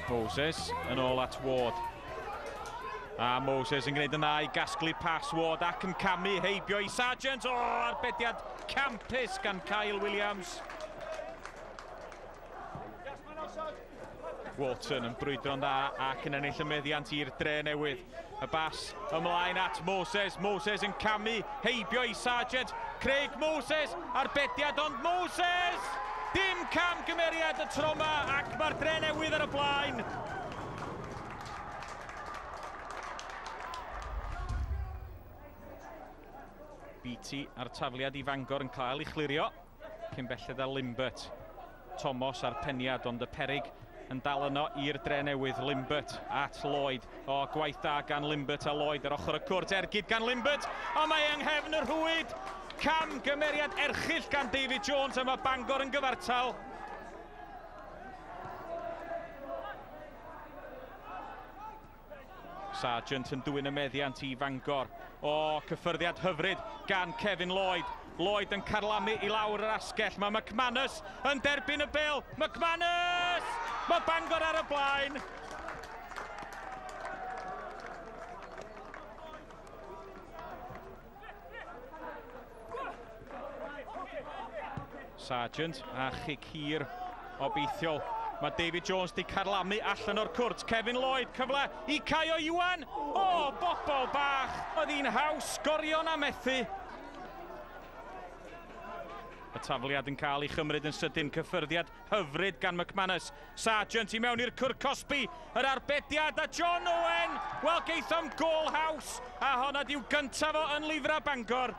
Moses yn ôl at Ward. A Moses yn gwneud yn dda i gasglu pas Ward ac yn camu heibio i Sargent. O, arbediad campus gan Kyle Williams. Walton yn brwydro'n dda ac yn ennill y meddiant i'r Drenewydd. Y bas ymlaen at Moses. Moses yn camu heibio i Sargent. Craig Moses, arbediad, ond Moses! Dim camgymeriad y tro yma ac mae'r Drenewydd ar y blaen. Beattie a'r tafliad i Fangor yn cael ei chlirio. Cyn belled â Limbert. Thomas a'r peniad, ond y perig yn dal yno i'r Drenewydd. Limbert at Lloyd. O, gwaith da gan Limbert a Lloyd ar ochr y cwrt. Ergyd gan Limbert, ond mae yng nghefn y rhwyd. Camgymeriad erchyll gan David Jones, a mae Bangor yn gyfartal. Sargent yn dwyn y meddiant i Fangor. O, cyffyrddiad hyfryd gan Kevin Lloyd. Lloyd yn carlamu i lawr yr asgell. Mae McManus yn derbyn y bêl. McManus! Mae Bangor ar y blaen. Sargent a chic hir obeithiol. Mae David Jones di carlamu allan o'r cwrt. Kevin Lloyd, cyfle i Caio Iwan. O, bobol bach! Oedd hi'n haws sgorio na methu. Y tafliad yn cael ei chymryd yn sydyn, cyffyrddiad hyfryd gan McManus. Sargent i mewn i'r cwrt cosbi, yr arbediad a John Owen! Wel, geithom gôl haws, a honna di'w gyntaf o yn lifra Bangor.